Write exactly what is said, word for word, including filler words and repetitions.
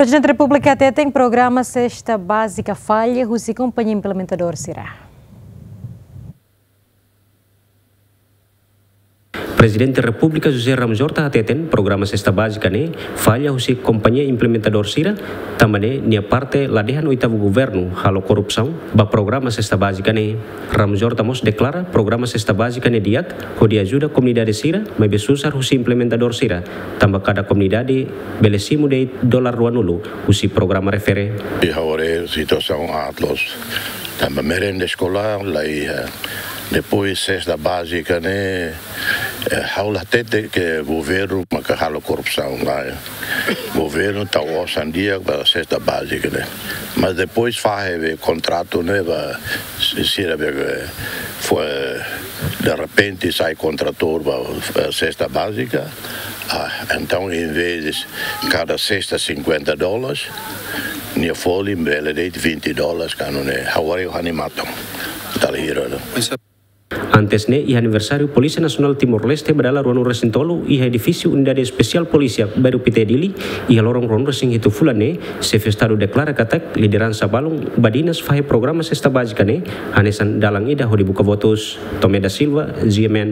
Prezidente Repúblika hateten programa sesta bázika falla husi kompañia implementadór sira. Prezidente Repúblika José Ramos Horta hateten programa sesta bázika ne'e falla husi kompañia implementadór sira, tanba ne'e nia parte la dehan oitavu governu halo korrupsaun ba programa sesta bázika ne'e. Ramos Horta mós deklara programa sesta bázika ne'e di'ak hodi ajuda komunidade sira, maibé susar husi implementadór sira, tanba kada komunidade bele simu de'it dolar ruanulu husi programa refere. Iha agora situasaun aat loos, tanba merenda eskolár la iha, depois sesta bázika ne'e, eh, ha'u la hatete ke governu maka halo korrupsaun, lae. Governu tau osan di'ak ba sesta bázika ne'e. Mas depois fahe be kontratu ne'e ba si-, sira be, eh, fo-, eh, derrepente sai kontratór ba, eh, sesta bázika. Ah, entaun, em vez de cada sesta cinquenta dólares, nia folin bele de'it vinte dólares, kanu ne'e, ha'u haree ha'u-nia matan. Dala hira ne'e. Antes ne'e, iha aniversáriu Polísia Nasionál Timor-Leste ba dala ruanulu-resin-tolu, iha edifísiu Unidade Espesiál Polísia, Bairru Pité, Dili, iha loron ruanulu-resin-hitu fulan ne'e, Xefe Estadu deklara katak lideransa balun badinas fahe programa sesta bázika ne'e, hanesan dalan ida hodi buka votus. Tomé da Silva, G M N.